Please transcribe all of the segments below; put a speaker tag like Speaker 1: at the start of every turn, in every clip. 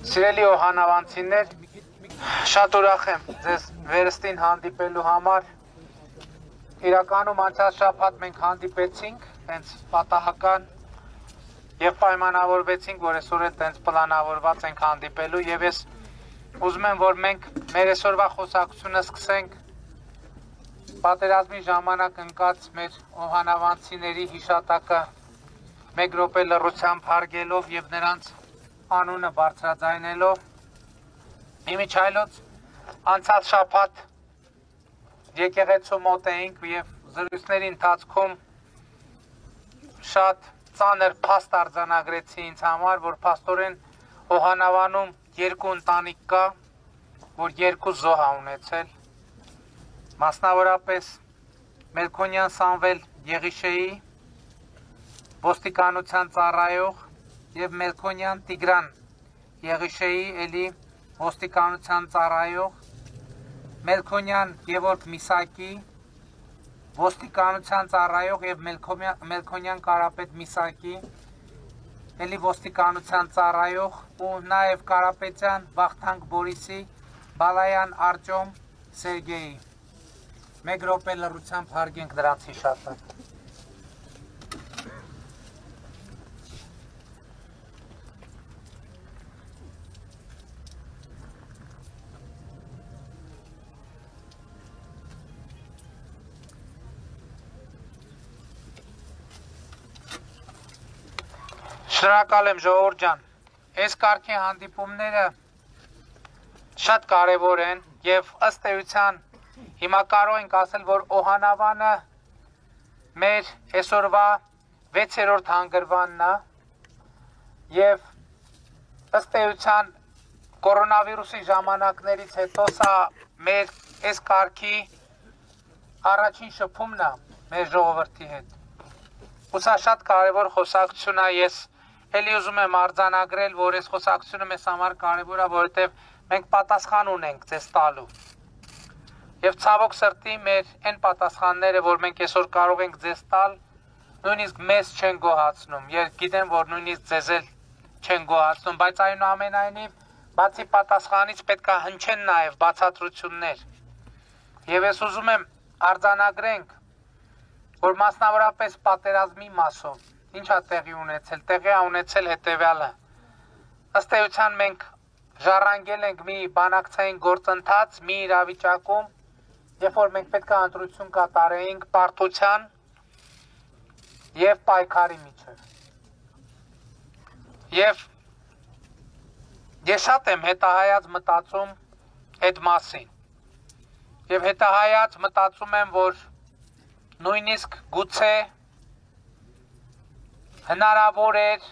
Speaker 1: Սիրելի օհանավանցիներ, շատ ուրախ եմ ձեզ վերստին հանդիպելու համար։ Իրականում անցած շաբաթ մենք հանդիպեցինք, տենց պատահական եւ պայմանավորվեցինք, որ այսօր էլ տենց պլանավորված ենք հանդիպելու եւ ես ուզում եմ, որ մենք մեր այսօրվա խոսակցությունը սկսենք պատերազմի ժամանակ ընկած մեր օհանավանցիների հիշատակը 1 րոպե լռությամբ հարգելով եւ նրանց անունը բարձրաձայնելով իմիջայլոց անցած շաբաթ եկեղեցու մոտ էինք եւ զրույցների ընթացքում շատ ծանր փաստ արձանագրեցի ինձ համար, որ փաստորեն օհանավանում 2 ընտանիք կա, որ 2 զոհ ա ունեցել, մասնավորապես Մելքոնյան Սամվել Եղիշեի ոստիկանության ծառայող եւ Մելքոնյան Տիգրան Եղիշեի էլի ոստիկանության ծառայող, Մելքոնյան Գևորգ Միսակի ոստիկանության ծառայող եւ Մելքոնյան Կարապետ Միսակի էլի ոստիկանության ծառայող ու նաեւ Կարապետյան Վախթանգ Բորիսի Բալայան Արտյոմ Սերգեյի 1 րոպե լռությամբ հարգենք դրանց հիշատակը։ Շնորհակալ եմ ժողովուրդ ջան, այս կարգի հանդիպումները շատ կարևոր են եւ ըստ էության հիմա կարող ենք ասել, որ օհանավանը մեր այսօրվա 6-րդ հանգրվանն է եւ ըստ էության կորոնավիրուսի ժամանակներից հետո սա մեր այս կարգի առաջին շփումն է մեր ժողովրդի հետ։ Ու սա շատ կարևոր խոսակցություն է, ես Էլի ուզում եմ արձանագրել, որ այս խոսակցությունը մեզ համար կարևոր է, որովհետև մենք պատասխան ունենք ձեզ տալու։ Եվ ցավոք սրտի մեր այն պատասխանները, որ մենք այսօր կարող ենք ձեզ տալ, նույնիսկ մեզ չեն գոհացնում։ Ես գիտեմ, որ նույնիսկ ձեզ էլ չեն գոհացնում, բայց այնուամենայնիվ բացի պատասխանից պետք է հնչեն նաև բացատրություններ։ Եվ ես ուզում եմ արձանագրենք, որ մասնավորապես պատերազմի մասով ինչ է տեղի ունեցել, տեղի է ունեցել հետևյալը։ Ըստ էության մենք ժառանգել ենք մի բանակցային գործընթաց, մի իրավիճակում, երբ որ մենք պետք է ընտրություն կատարեինք պարտության եւ պայքարի միջև։ Եվ ես շատ եմ հետահայաց մտածում այդ մասին։ Եվ հետահայաց մտածում եմ, որ նույնիսկ գուցե հնարավոր էր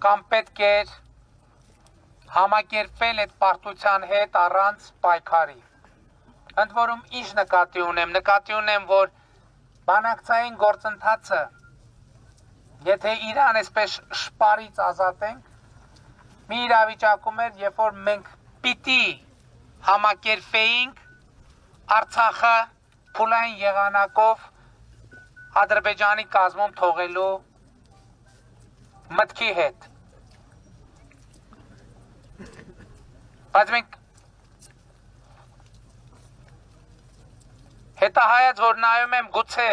Speaker 1: կամ պետք էր համակերպվել այդ պարտության հետ առանց պայքարի։ Ընդ որում ինչ նկատի ունեմ, որ բանակցային գործընթացը, եթե իրան այսպես շպարից ազատենք, մի իրավիճակում էր, երբ որ մենք պիտի համակերպեինք Արցախը փուլային եղանակով Ադրբեջանի կազմում թողելու մտքի հետ։ Բայց մենք հետահայաց, որ նայում եմ գուցե,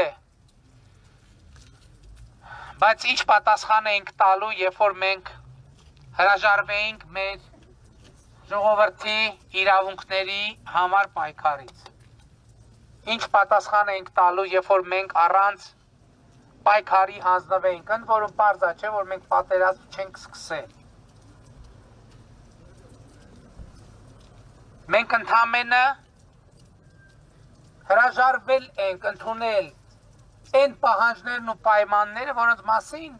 Speaker 1: բայց ինչ պատասխան էինք տալու, երբ որ մենք հրաժարվեինք մեր ժողովրդի իրավունքների համար պայքարից։ Ինչ պատասխան էինք տալու, երբ որ մենք առանց պայքարի հանձնվեինք, ընդ որում պարզ է, չէ, որ մենք պատերազմ չենք սկսել։ Մենք ընդամենը հրաժարվել ենք ընդունել այն պահանջներն ու պայմանները, որոնց մասին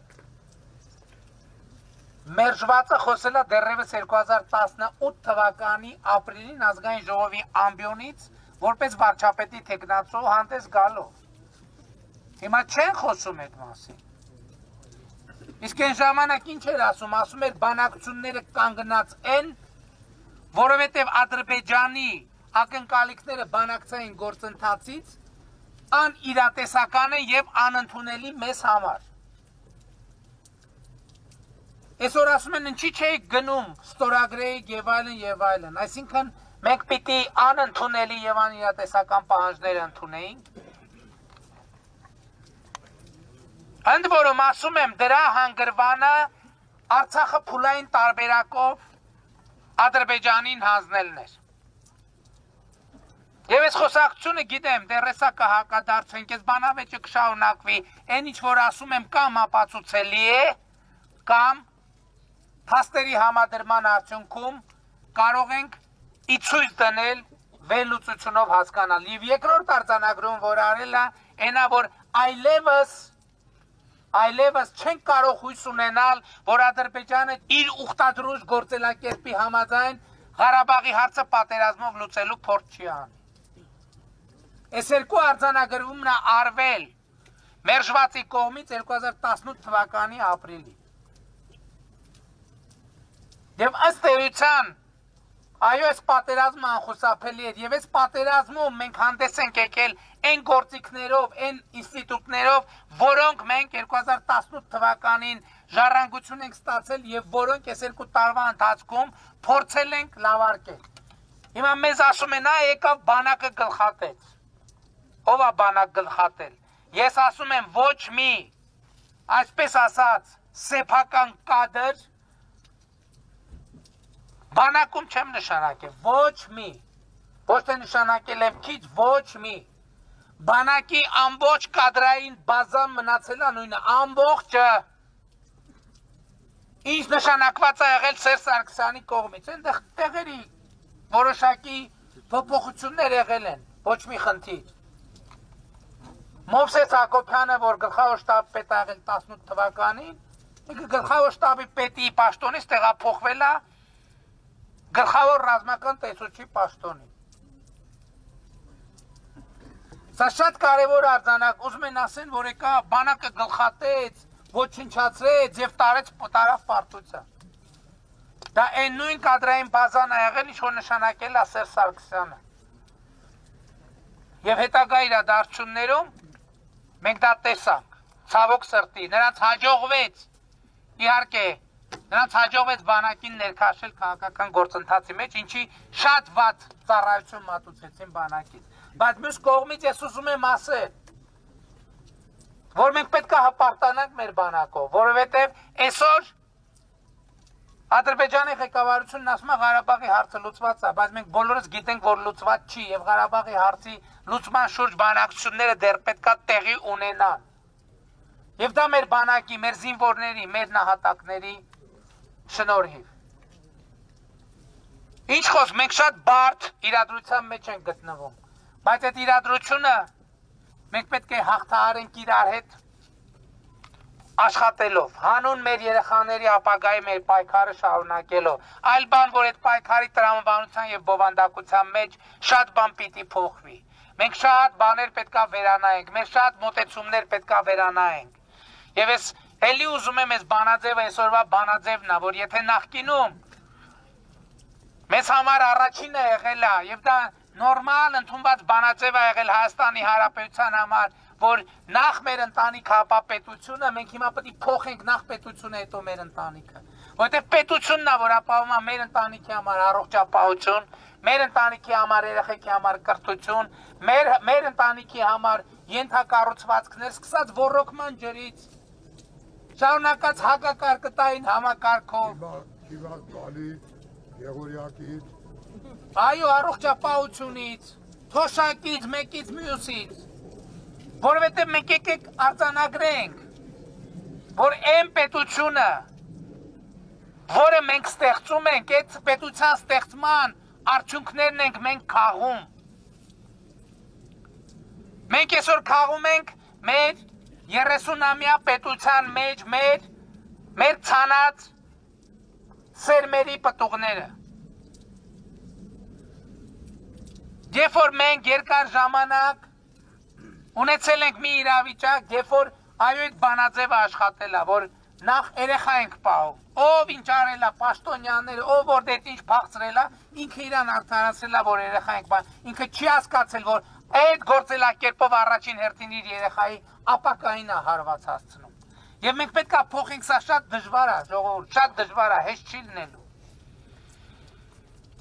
Speaker 1: մերժվածը խոսել է դեռևս 2018 թվականի ապրիլին ազգային ժողովի ամբիոնից որպես վարչապետի թեկնածու հանդես գալով։ Հիմա չեն խոսում այդ մասին։ Իսկ այն ժամանակ ինչ էր ասում, ասում էր բանակցությունները կանգնած են, որովհետև Ադրբեջանի ակնկալիքները բանակցային գործընթացից անիրատեսական են եւ անընդունելի մեզ համար։ Այսօր ասում են ինչի՞ չէիք գնում ստորագրեիք եւ այլն, այսինքն մենք պիտի անընդունելի եւ անիրատեսական պահանջներ ընդունեինք։ Ընդ որում ասում եմ դրա հանգրվանը Արցախը փուլային տարբերակով Ադրբեջանին հանձնելն էր։ Եվ այս խոսակցությունը գիտեմ, դեռ հեսա կհակադարձենք, այս բանավեճը կշարունակվի, այն ինչ որ ասում եմ կամ ապացուցելի է, կամ փաստերի համադրման արդյունքում կարող ենք ի ցույց դնել վերլուծությունով հասկանալ։ Եվ երկրորդ արձանագրում, որ արել է, այնա որ այլևս չեն կարող հույս ունենալ, որ Ադրբեջանը իր ուխտադրուժ գործելակերպի համաձայն Ղարաբաղի հարցը պատերազմով լուծելու փորձ չի անի։ Այս երկու արձանագրումն է արվել մերժվածի կողմից 2018 թվականի ապրիլի։ Եվ ըստ էության, այո, այս պատերազմը անխուսափելի էր, եւ այս պատերազմում մենք հանդես ենք եկել այն գործիքներով, այն ինստիտուտներով, որոնք մենք 2018 թվականին ժառանգություն ենք ստացել եւ որոնք այս երկու տարվա ընթացքում փորձել ենք լավարկել։ Հիմա մեզ ասում են, եկավ բանակը գլխատեց։ Ով է բանակ գլխատել։ Ես ասում եմ ոչ մի, այսպես ասած, սեփական կադր բանակում չեմ նշանակել, ոչ մի, ոչ թե նշանակել եմ քիչ, ոչ մի, բանակի ամբողջ կադրային բազան մնացել է նույնը, ամբողջը, ինչ նշանակված է եղել Սերժ Սարգսյանի կողմից, այնտեղ տեղերի որոշակի փոփոխություններ եղել են, ոչ մի խնդիր։ Մովսես Հակոբյանը, որ գլխավոր շտաբի պետ ա եղել 18 թվականին, գլխավոր շտաբի պետի պաշտոնից տեղափոխվել է գլխավոր ռազմական տեսուչի պաշտոնի։ Սա շատ կարևոր արձանակ, ուզում են ասեն, որ եկա բանակը գլխատեց, ոչնչացրեց եւ տարավ պարտության։ Դա այն նույն կադրային բազան ա եղել, ինչ որ նշանակել է Սերժ Սարգսյանը։ Եվ հետագա իրադարձություններում մենք դա տեսանք, ցավոք սրտի, նրանց հաջողվեց, իհարկե, նրանց հաջողվեց բանակին ներքաշել քաղաքական գործընթացի մեջ, ինչի շատ վատ ծառայություն մատուցեցին բանակից։ Բայց մյուս կողմից ես ուզում եմ ասել, որ մենք պետք է հպարտանանք մեր բանակով, որովհետև այսօր Ադրբեջանի ղեկավարությունն ասում է Ղարաբաղի հարցը լուծված է, բայց մենք բոլորս գիտենք, որ լուծված չի եւ Ղարաբաղի հարցի լուծման շուրջ բանակցությունները դեռ պետքա տեղի ունենան։ Եվ դա մեր բանակի, մեր զինվորների, մեր նահատակների շնորհիվ։ Ինչ խոսք, մենք շատ բարդ իրադրության մեջ ենք գտնվում, բայց այդ իրադրությունը մենք պետք է հաղթահարենք իրար հետ աշխատելով, հանուն մեր երեխաների ապագայի մեր պայքարը շարունակելով, այլ բան, որ այդ պայքարի տրամաբանության եւ բովանդակության մեջ շատ բան պիտի փոխվի։ Մենք շատ բաներ պետքա վերանայենք, մեր շատ մոտեցումներ պետքա վերանայենք։ Եվ ես էլի ուզում եմ այս բանաձևը, այսօրվա բանաձևն է, որ եթե նախկինում մեզ համար առաջինը եղել է եւ դա նորմալ ընդունված բանաձև է եղել Հայաստանի Հանրապետության համար, որ նախ մեր ընտանիք հապապետությունը, մենք հիմա պետք է փոխենք նախ պետությունը, հետո մեր ընտանիքը։ Որտեղ պետությունն է, որ ապահովում է մեր ընտանիքի համար առողջապահություն, մեր ընտանիքի համար երեխեքի համար կրթություն, մեր ընտանիքի համար ենթակառուցվածքներ, սկսած ոռոգման ջրից, շարունակած հակակարկտային համակարգով, այո, առողջապահությունից, թոշակից, մեկից մյուսից, որովհետև մենք եկեք արձանագրենք, որ այն պետությունը, որը մենք ստեղծում ենք, այդ պետության ստեղծման արդյունքներն ենք մենք քաղում։ Մենք այսօր քաղում ենք մեր 30-ամյա պետության մեջ մեր ցանած սերմերի պտուղները։ Երբ որ մենք երկար ժամանակ ունեցել ենք մի իրավիճակ, երբ որ այո այդ բանաձևը աշխատել է, որ նախ երեխա ենք պահում, ով ինչ արել է, պաշտոնյաները, ով որ դե ինչ փախցրել է, ինքը իրան արդարացրել է, որ երեխա ենք պահում, ինքը չի հասկացել, որ այդ գործելակերպով առաջին հերթին իր երեխայի ապակային է հարված հասցնում։ Եվ մենք պետք է փոխենք, սա շատ դժվար է, ժողովուրդ, շատ դժվար է, հեշտ չի լինելու։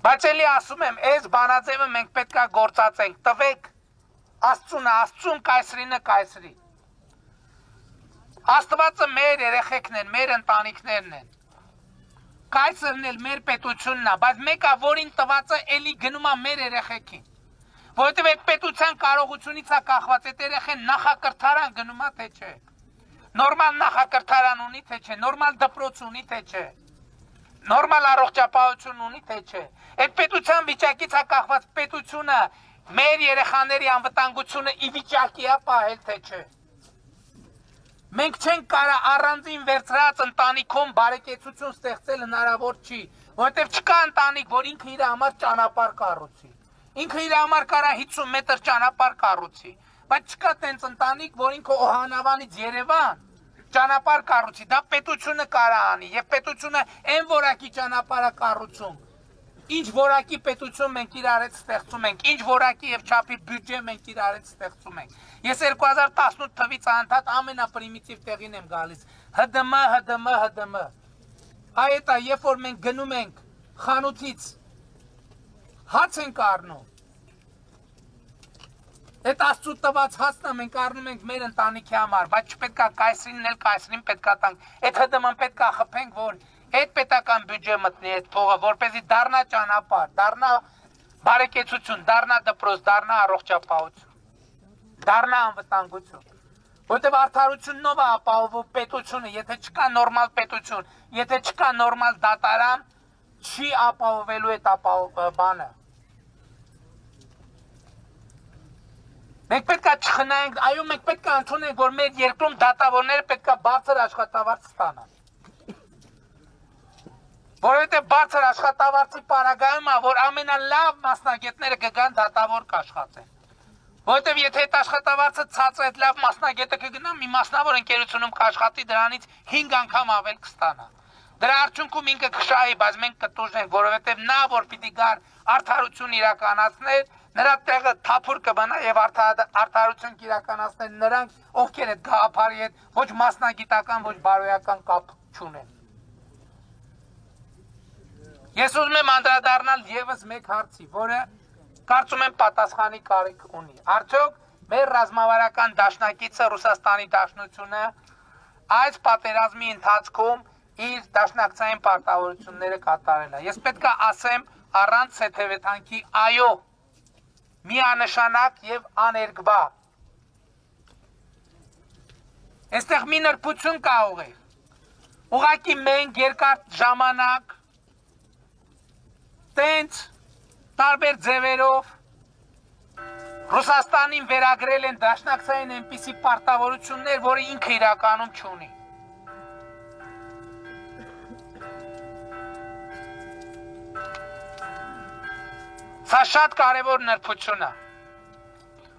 Speaker 1: Բայց էլի ասում եմ, այս բանաձևը մենք պետք է գործածենք, տվեք Աստծուն կայսրինը կայսրի։ Աստվածը մեր երեխեքն են, մեր ընտանիքներն են։ Կայսրն էլ մեր պետությունն է, բայց մեկը որին տվածը էլի գնում է մեր երեխեքին։ Որովհետև այդ պետության կարողությունից է կախված, այդ երեխեն նախակրթարան գնում է, թե չէ։ Նորմալ նախակրթարան ունի, թե չէ, նորմալ դպրոց ունի, թե չէ։ Նորմալ առողջապահություն ունի, թե չէ։ Այդ պետության վիճակից է կախված պետությունը մեր երեխաների անվտանգությունը ի վիճակի է պահել, թե չէ։ Մենք չենք կարա առանձին վերցրած ընտանիքում բարեկեցություն ստեղծել հնարավոր չի, որովհետև չկա ընտանիք, որ ինքը իր համար ճանապարհ կառուցի։ Ինքը իր համար կարա 50 մետր ճանապարհ կառուցի, բայց չկա տենց ընտանիք, որ ինքը Օհանավանից Երևան ճանապարհ կառուցի, դա պետությունը կարա անի, եւ պետությունը այն որակի ճանապարհ է կառուցում։ Ինչ որակի պետություն մենք իրար հետ ստեղծում ենք, ինչ որակի եւ չափի բյուջե մենք իրար հետ ստեղծում ենք։ Ես 2018 թվից անդադ ամենապրիմիտիվ տեղին եմ գալիս։ ՀԴՄ։ Այդ է, երբ որ մենք գնում ենք խանութից հաց ենք առնում։ Այդ Աստծո տված հացն է մենք առնում ենք մեր ընտանիքի համար, բայց չպետք է կայսրին էլ կայսրին պետք է տանք։ Այդ ՀԴՄ-ն պետք է խփենք, որ այդ պետական բյուջե մտնի այդ փողը, որպեսզի դառնա ճանապարհ, դառնա բարեկեցություն, դառնա դպրոց, դառնա առողջապահություն, դառնա անվտանգություն։ Որտեւ արդարությունով է ապահովում պետությունը, եթե չկա նորմալ պետություն, եթե չկա նորմալ դատարան, չի ապահովելու այդ բանը։ Մենք պետք է չխնայենք, այո, մենք պետք է ընդունենք, որ մեր երկրում դատավորները պետք է բարձր աշխատավարձ ստանան։ Որովհետև բարձր աշխատավարձի պարագայում է, որ ամենալավ մասնագետները կգան դատավոր կաշխատեն։ Որովհետև եթե այդ աշխատավարձը ցածր է, այդ լավ մասնագետը կգնա, մի մասնավոր ընկերությունում կաշխատի, դրանից 5 անգամ ավել կստանա։ Դրա արդյունքում ինքը կշահի, բայց մենք կտուժենք, որովհետև նա, որ պիտի գար արդարություն իրականացներ, նրա տեղը թափուր կմնա եւ արդարություն կիրականացնեն նրանք, ովքեր այդ գաղափարի հետ ոչ մասնագիտական, ոչ բարոյական կապ չունեն։ Ես ուզում եմ անդրադառնալ եւս մեկ հարցի, որը կարծում եմ պատասխանի կարիք ունի։ Արդյոք մեր ռազմավարական դաշնակիցը Ռուսաստանի Դաշնությունը այս պատերազմի ընթացքում իր դաշնակցային պարտավորությունները կատարել է։ Ես պետք է ասեմ առանց հետևեթանքի այո, միանշանակ եւ աներկբա։ Այստեղ մի նրբություն կա ուղիղ։ Ուղղակի մենք երկար ժամանակ տենց տարբեր ձևերով Ռուսաստանին վերագրել են դաշնակցային այնպիսի պարտավորություններ, որը ինքը իրականում չունի։ Սա շատ կարևոր նրբություն է։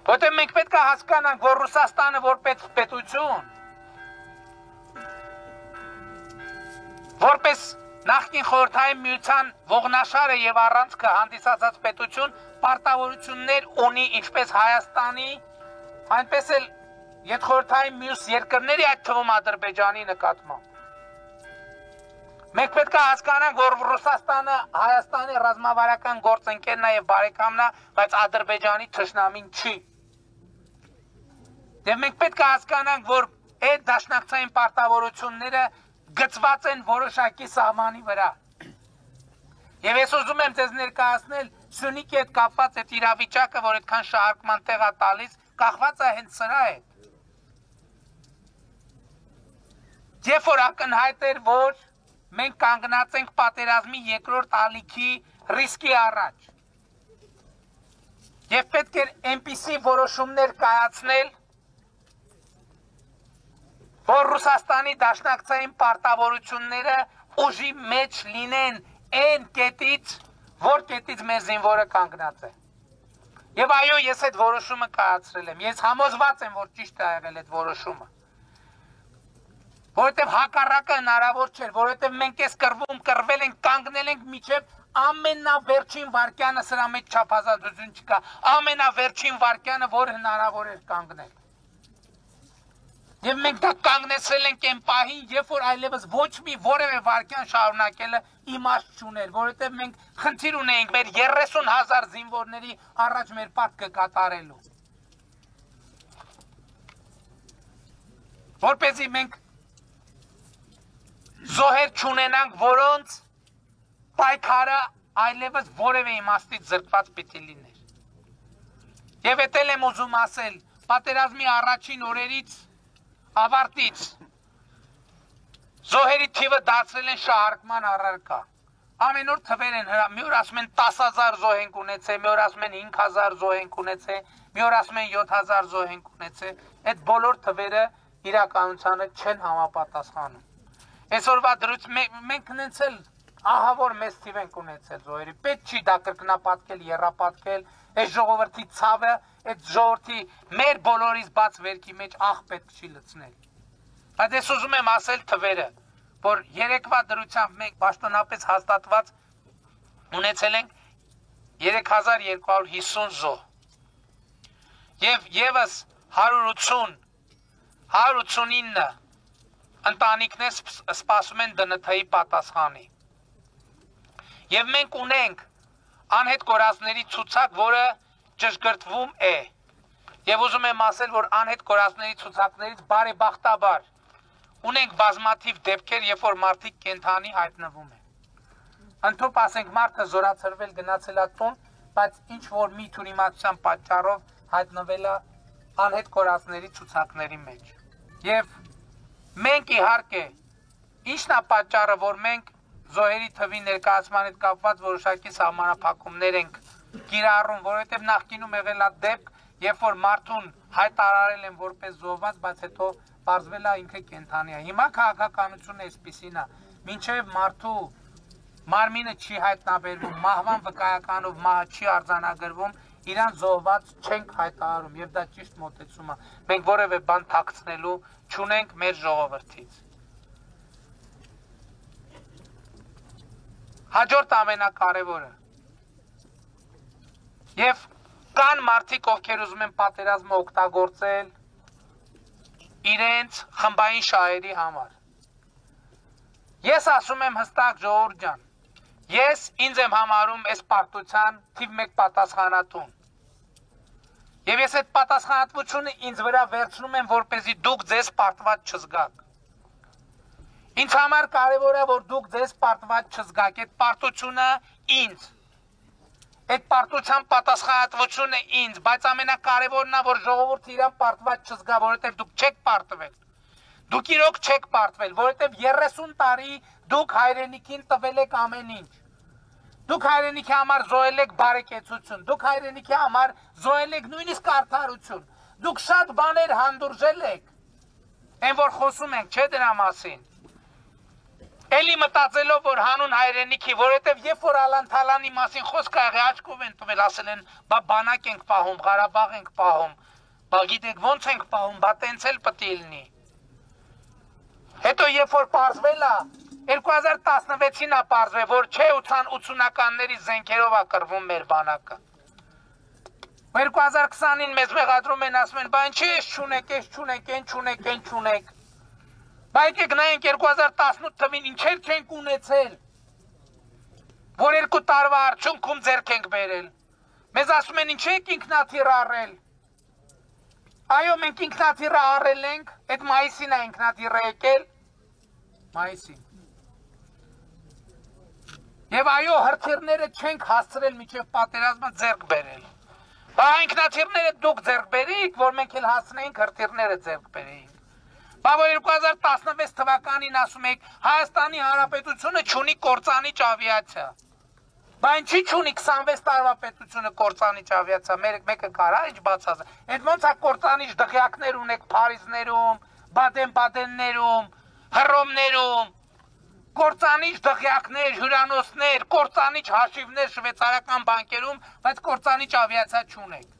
Speaker 1: Որտեղ մենք պետք է հասկանանք, որ Ռուսաստանը որպես պետություն, որպես նախկին խորհրդային միության ողնաշարը եւ առանցքը հանդիսացած պետություն պարտավորություններ ունի ինչպես Հայաստանի, այնպես էլ յետխորհրդային մյուս երկրների, այդ թվում Ադրբեջանի նկատմամբ։ Մենք պետք է հասկանանք, որ Ռուսաստանը Հայաստանի ռազմավարական գործընկերն է եւ բարեկամն է, բայց Ադրբեջանի թշնամին չի։ Եվ մենք պետք է հասկանանք, որ այդ դաշնակցային պարտավորությունները գծված են որոշակի սահմանի վրա։ Եվ ես ուզում եմ ձեզ ներկայացնել Սյունիքի հետ կապված այդ իրավիճակը, որ այդքան շահարկման տեղ է տալիս, կախված է հենց սրա հետ։ Երբ որ ակնհայտ էր, որ մենք կանգնած ենք պատերազմի երկրորդ ալիքի ռիսկի առաջ։ Եվ պետք էր այնպիսի որոշումներ կայացնել, որ Ռուսաստանի դաշնակցային պարտավորությունները ուժի մեջ լինեն այն կետից, որ կետից մեր զինվորը կանգնած է։ Եվ այո, ես այդ որոշումը կայացրել եմ։ Ես համոզված եմ, որ ճիշտ է եղել այդ որոշումը։ Որովհետև հակառակը հնարավոր չէր, որովհետև մենք այս կռվել ենք, կանգնել ենք միջև ամենավերջին վարկյանը, սրա մեջ չափազատություն չկա, ամենավերջին վարկյանը, որ հնարավոր էր կանգնել։ Եվ մենք դա կանգնեցրել ենք այն պահին, երբ որ այլևս ոչ մի որևէ վարկյան շարունակելը իմաստ չուներ, որովհետև մենք խնդիր ունեինք մեր 30,000 զինվորների առաջ մեր պարտքը կատարելու։ Որպեսզի մենք զոհեր չունենանք, որոնց պայքարը այլևս որևէ իմաստից զրկված պիտի լիներ։ Եվ էտել եմ ուզում ասել, պատերազմի առաջին օրերից ավարտից զոհերի թիվը դարձրել են շահարկման առարկա։ Ամեն օր թվեր են հրա, մի օր ասում են 10,000 զոհ ենք ունեցել, մի օր ասում են 5,000 զոհ ենք ունեցել, մի օր ասում են 7,000 զոհ ենք ունեցել։ Այդ բոլոր թվերը իրականությանը չեն համապատասխանում։ Այսօրվա դրույթ մենք ունեցել ահավոր մեծ թիվ ենք ունեցել զոհերի։ Պետք չի դա կրկնապատկել, եռապատկել, այս ժողովրդի ցավը, այդ ժողովրդի մեր բոլորից բաց վերքի մեջ աղ պետք չի լցնել։ Բայց ես ուզում եմ ասել թվերը, որ երեկվա դրությամբ մենք պաշտոնապես հաստատված ունեցել ենք 3250 զոհ։ Եվ եւս 189 ընտանիքներ սպասում են ԴՆԹ-ի պատասխանի։ Եվ մենք ունենք անհետ կորածների ցուցակ, որը ճշգրտվում է։ Եվ ուզում եմ ասել, որ անհետ կորածների ցուցակներից բարեբախտաբար ունենք բազմաթիվ դեպքեր, երբ որ մարդիկ կենթանի հայտնվում են։ Ընդհանուր ասենք մարդը զորացրվել գնացել է տուն, բայց ինչ որ մի թյուրիմացության պատճառով հայտնվել է անհետ կորածների ցուցակների մեջ։ Եվ մենք իհարկե ինչն է պատճառը, որ մենք զոհերի թվի ներկայացման հետ կապված որոշակի սահմանափակումներ ենք կիրառում, որովհետև նախկինում եղել է դեպք, երբ որ մարդուն հայտարարել են որպես զոհված, բայց հետո պարզվել է ինքը կենդանի է։ Հիմա քաղաքականությունը այսպիսին է, մինչև մարդու մարմինը չի հայտնաբերվում, մահվան վկայականով մահը չի արձանագրվում, իրան զոհված չենք հայտարարում, եւ դա ճիշտ մոտեցում է։ Մենք որևէ բան թաքցնելու չունենք մեր ժողովրդից։ Հաջորդ ամենակարևորը։ Եվ կան մարդիկ, ովքեր ուզում են պատերազմը օգտագործել իրենց խմբային շահերի համար։ Ես ասում եմ հստակ, ժողովուրդ ջան, ես ինձ եմ համարում այս պարտության թիվ 1 պատասխանատուն։ Եվ ես այդ պատասխանատվությունը ինձ վրա վերցնում եմ, որպեսզի դուք ձեզ պարտված չզգաք։ Ինձ համար կարևոր է, որ դուք ձեզ պարտված չզգաք, այդ պարտությունը ինձ։ Այդ պարտության պատասխանատվությունը ինձ, բայց ամենակարևորն է, որ ժողովուրդը իրան պարտված չզգա, որովհետև դուք չեք պարտվել։ Դուք իրոք չեք պարտվել, որովհետև 30 տարի դուք հայրենիքին տվել եք ամեն ինչ։ Դուք հայրենիքի համար զոհել եք բարեկեցություն, դուք հայրենիքի համար զոհել եք նույնիսկ արդարություն։ Դուք շատ բաներ հանդուրժել եք։ Այն որ խոսում ենք, չէ դրա մասին։ Էլի մտածելով, որ հանուն հայրենիքի, որովհետև երբ որ Ալան-Թալանի մասին խոսք աղի աչքով են տվել, ասել են, բա բանակ ենք պահում, Ղարաբաղ ենք պահում, բա գիտեք ոնց ենք պահում, բա տենց էլ պիտի լինի։ Հետո երբ որ պարզվել է, 2016-ին է պարզվել, որ չէ 80-ականների զենքերով է կռվում մեր բանակը։ 2020-ին մեզ մեղադրում են, ասում են, բա ինչ էս չունեք, էս չունեք, են չունեք, են չունեք։ Բա եկեք նայենք 2018 թվին ինչեր չենք ունեցել, որ 2 տարվա արդյունքում ձեռք ենք բերել։ Մեզ ասում են ինչ եք ինքնաթիռ առել։ Այո, մենք ինքնաթիռը առել ենք, այդ մայիսին է ինքնաթիռը եկել, մայիսին։ Եվ այո, հրթիռները չենք հասցրել մինչև պատերազմը ձեռք բերել։ Բա ինքնաթիռները դուք ձեռք բերիք, որ մենք էլ հասցնեինք հրթիռները ձեռք բերեինք։ Բա որ 2016 թվականին ասում եք Հայաստանի Հանրապետությունը չունի կործանիչ ավիացիա։ Բայց ինչի՞ չունի 26 տարվա պետությունը կործանիչ ավիացիա, մեկը կարա ինչ բացած։ Այդ ոնց է կործանիչ դղյակներ ունեք Փարիզներում, Բադեն-Բադեններում, Հռոմներում, կործանիչ դղյակներ, հյուրանոցներ, կործանիչ հաշիվներ շվեյցարական բանկերում, բայց կործանիչ ավիացիա չունեք։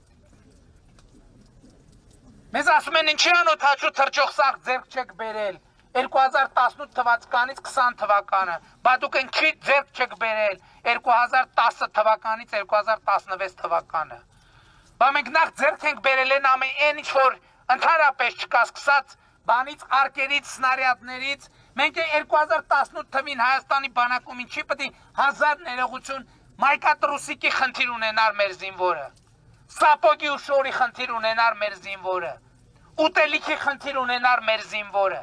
Speaker 1: Մեզ ասում են ինչի անօթաչու թռչող սարք ձեռք չեք բերել 2018 թվականից 20 թվականը, բա դուք ինչի ձեռք չեք բերել 2010 թվականից 2016 թվականը։ Բա մենք նախ ձեռք ենք բերել այն ինչ որ ընդհանրապես չկա սկսած բանից, արկերից, սնարյադներից, մենք 2018 թվին Հայաստանի բանակում ինչի պետք է 1000 ներողություն մայկատրուսիկի խնդիր ունենար մեր զինվորը, սապոգի ու շորի խնդիր ունենար մեր զինվորը, ուտելիքի խնդիր ունենար մեր զինվորը։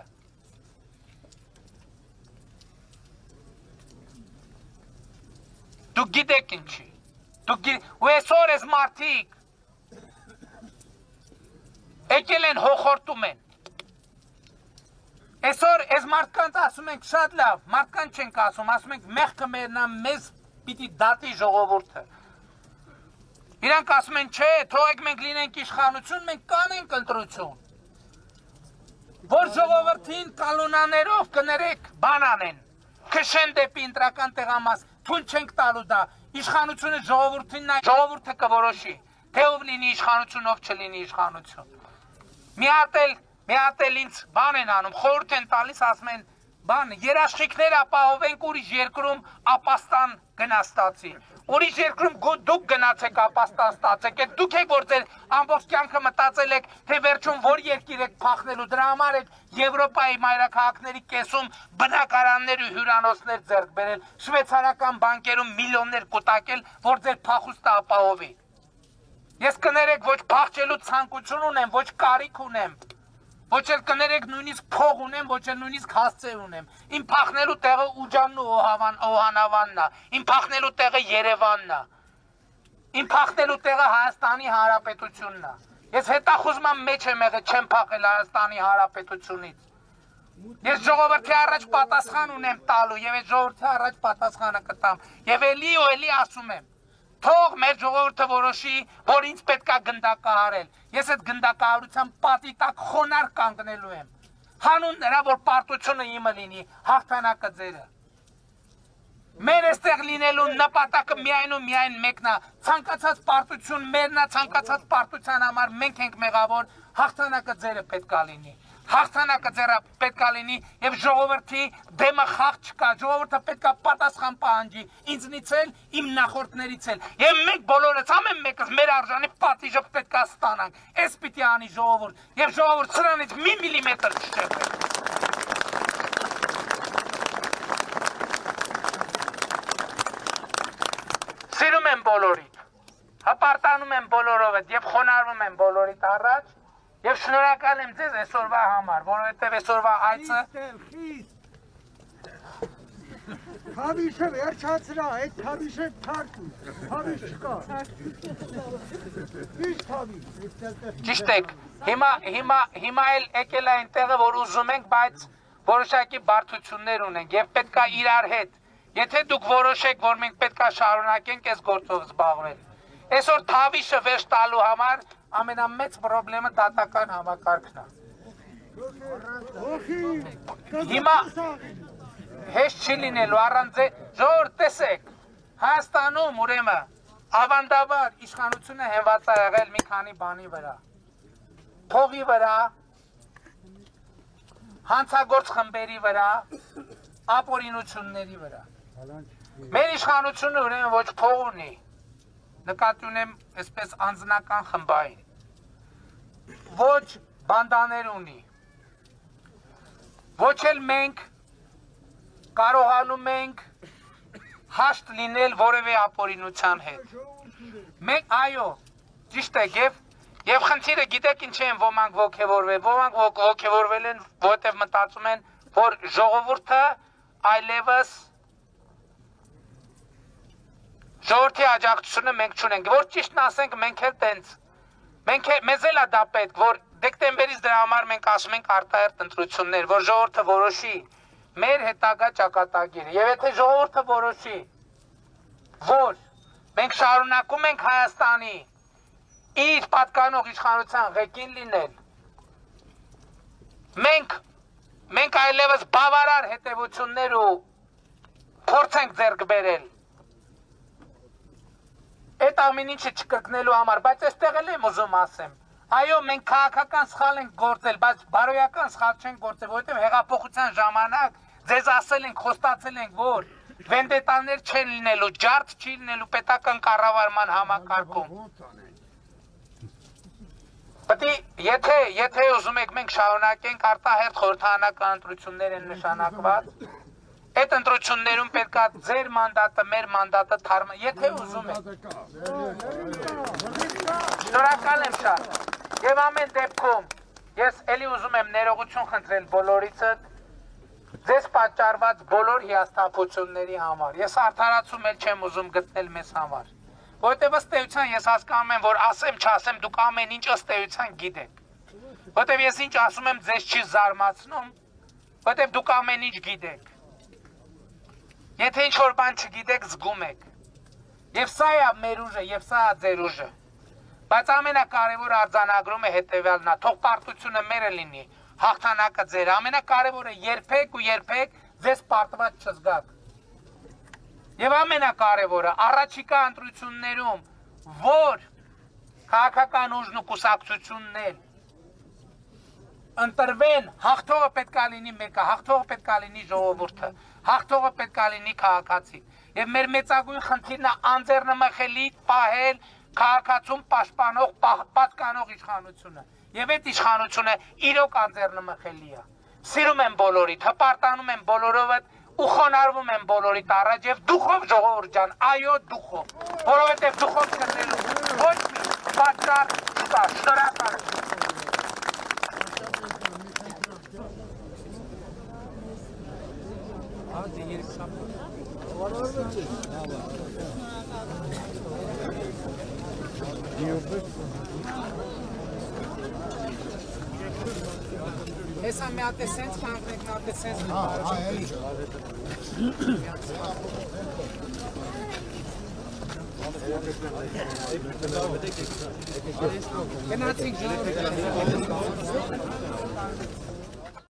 Speaker 1: Դուք գիտեք ինչի, ու այսօր ես մարդիկ եկել են հոխորտում են, այսօր ես մարդկանց ասում ենք շատ լավ, մարդկանց չենք ասում ենք մեղքը մերնա մեզ պիտի դատի ժողովուրդը, իրանք ասում են չէ, թողեք մենք լինենք իշխանություն, մենք կանենք ընտրություն, որ ժողովրդին կալունաներով կներեք բան անեն, քշեն դեպի ընտրական տեղամաս, թույլ չենք տալու դա, իշխանությունը ժողովուրդը կորոշի, թե ով լինի իշխանություն, ով չլինի իշխանություն։ Մի հատ էլ ինձ բան են անում, խորհուրդ են տալիս, ասում են, բան, երաշխիքներ ապահովենք ուրիշ երկրում ապաստան գնաստացի։ Ուրիշ երկրում դուք գնացեք ապաստան ստացեք, դուք եք որ ձեր ամբողջ կյանքը մտածել եք, թե վերջում որ երկիր եք փախնելու, դրա համար եք Եվրոպայի մայրաքաղաքների կեսում բնակարաններ ու հյուրանոցներ ձեռք բերել, շվեյցարական բանկերում միլիոններ կուտակել, որ ձեր փախուստը ապահովի։ Ես կներեք ոչ փախչելու ցանկություն ունեմ, ոչ կարիք ունեմ, ոչ էլ կներեք նույնիսկ փող ունեմ, ոչ էլ նույնիսկ հասցե ունեմ։ Իմ փախնելու տեղը Ուջանն ու Օհանավանն է, իմ փախնելու տեղը Երևանն է, իմ փախնելու տեղը Հայաստանի Հանրապետությունն է։ Ես հետախուզման մեջ եմ եղել, չեմ փախել Հայաստանի Հանրապետությունից։ Ես ժողովրդի առաջ պատասխան ունեմ տալու եւ այդ ժողովրդի առաջ պատասխանը կտամ։ Եվ էլի ասում եմ, թող մեր ժողովուրդը որոշի, որ ինձ պետքա գնդակահարել։ Ես այդ գնդակահարության պատի տակ խոնարհ կանգնելու եմ։ Հանուն նրա, որ պարտությունը իմը լինի, հաղթանակը ձերը։ Մեր այստեղ լինելու նպատակը միայն ու միայն մեկն է, ցանկացած պարտություն մերն է, ցանկացած պարտության համար մենք ենք մեղավոր, հաղթանակը ձերը պետքա լինի։ Հաղթանակը ձերը պետքա լինի եւ ժողովրդի դեմը խաղ չկա, ժողովուրդը պետքա պատասխան պահանջի, ինձնից էլ, իմ նախորդներից էլ։ Եվ մենք բոլորս ամեն մեկս մեր արժանի պատիժը պետքա ստանանք։ Էս պիտի անի ժողովուրդ, եւ ժողովուրդ սրանից մի միլիմետր չշեղվի։ Սիրում եմ բոլորիդ, հպարտանում եմ բոլորովդ եւ խոնարհվում եմ բոլորիդ առաջ։ Եվ շնորհակալ եմ ձեզ այսօրվա համար, որովհետև այսօրվա այցը
Speaker 2: Թավիշը վերջացրա, այդ թավիշը թարքու, թավիշ չկա։ Ինչ թավիշ։
Speaker 1: Ճիշտ եք, հիմա էլ եկել է այնտեղը, որ ուզում ենք, բայց որոշակի բարդություններ ունենք եւ պետքա իրար հետ։ Եթե դուք որոշեք, որ մենք պետքա շարունակենք այս գործով զբաղվել։ Այսօր թավիշը վերջ տալու համար ամենամեծ պրոբլեմը դատական համակարգն է։ Հիմա հեշտ չի լինելու առանց ժողովուրդ տեսեք, Հայաստանում ուրեմն ավանդաբար իշխանությունը հենված է եղել մի քանի բանի վրա։ Փողի վրա, հանցագործ խմբերի վրա, ապօրինությունների վրա։ Մեր իշխանությունը ուրեմն ոչ փող ունի, նկատի ունեմ այսպես անձնական խմբային, ոչ բանդաներ ունի, ոչ էլ մենք կարողանում ենք հաշտ լինել որևէ ապօրինության հետ։ Մենք այո, ճիշտ է, եւ խնդիրը գիտեք ինչ են ոմանք ոգևորվել, ոմանք ոգևորվել են, որտեղ մտածում են, որ ժողովուրդը այլևս ժողովրդի աջակցությունը մենք չունենք, որ ճիշտն ասենք մենք էլ տենց, մեզ էլ է դա պետք, որ դեկտեմբերից դրա համար մենք ասում ենք արտահերթ ընտրություններ, որ ժողովուրդը որոշի մեր հետագա ճակատագիրը, եւ եթե ժողովուրդը որոշի, որ մենք շարունակում ենք Հայաստանի իր պատկանող իշխանության ղեկին լինել, մենք այլևս բավարար հետևություններ ու փորձ ենք ձեռք բերել այդ ամեն ինչը չկրկնելու համար, բայց այստեղ էլ եմ ուզում ասեմ, այո, մենք քաղաքական սխալ ենք գործել, բայց բարոյական սխալ չենք գործել, որովհետև հեղափոխության ժամանակ ձեզ ասել ենք, խոստացել ենք, որ վենդետաներ չեն լինելու, ջարդ չի լինելու պետական կառավարման համակարգում։ Եթե ուզում եք մենք շարունակենք արտահերթ խորհրդարանական ընտրություններ են նշանակված, այդ ընտրություններում պետք է ձեր մանդատը, մեր մանդատը թարմը, եթե ուզում եք։ Շնորհակալ եմ շատ։ Եվ ամեն դեպքում ես էլի ուզում եմ ներողություն խնդրել բոլորիցդ ձեզ պատճառված բոլոր հիասթափությունների համար։ Ես արդարացում էլ չեմ ուզում գտնել մեզ համար։ Որտեւ ըստ էության ես հասկանում եմ, որ ասեմ չասեմ դուք ամեն ինչ ըստ էության գիտեք։ Որտեւ ես ինչ ասում եմ ձեզ չի զարմացնում, որտեւ դուք ամեն ինչ գիտեք։ Եթե ինչ որ բան չգիտեք, զգում եք։ Եվ սա է մեր ուժը, եւ սա է ձեր ուժը։ Բայց ամենակարևորը արձանագրում է հետեւյալն է, թող պարտությունը մերը լինի, հաղթանակը ձեր, ամենակարևորը երբեք ու երբեք ձեզ պարտված չզգաք։ Եվ ամենակարևորը առաջիկա ընտրություններում, որ քաղաքական ուժն ու կուսակցություններ ընտրվեն, հաղթողը պետք է լինի մեկը, հաղթողը պետք է լինի ժողովուրդը, հաղթողը պետք է լինի քաղաքացին։ Եվ մեր մեծագույն խնդիրն է անձեռնմխելի պահել քաղաքացուն պաշտպանող, պատկանող իշխանությունը։ Եվ այդ իշխանությունը իրոք անձեռնմխելի է։ Սիրում եմ բոլորիդ, հպարտանում եմ բոլորովդ ու խոնարհվում եմ բոլորիդ առաջ եւ դուխով ժողովուրդ ջան, այո դուխով, որովհետեւ դուխով գտնելու ոչ մի պատճառ չկա։ Շնորհակալ եմ։ Esa me hace sense, me hace sense. Can I take